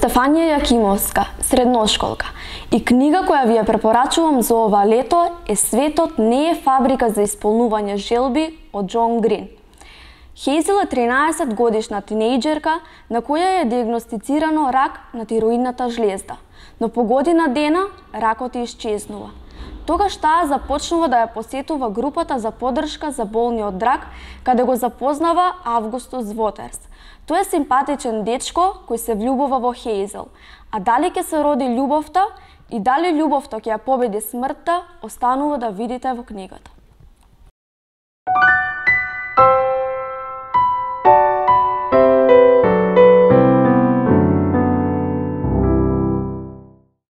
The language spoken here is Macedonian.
Стефанија Јакимовска, средношколка. И книга која ви ја препорачувам за ова лето е Светот не е фабрика за исполнување желби од Џон Грин. Хејзел е 13 годишна тинејџерка на која е диагностицирано рак на тироидната жлезда, но по година дена ракот ја исчезнува. Тогаш таа започнува да ја посетува групата за поддршка за болни од рак, каде го запознава Августус Вотерс. Тој е симпатичен дечко кој се влюбува во Хејзел, а дали ќе се роди љубовта и дали љубовта ќе ја победи смртта, останува да видите во книгата.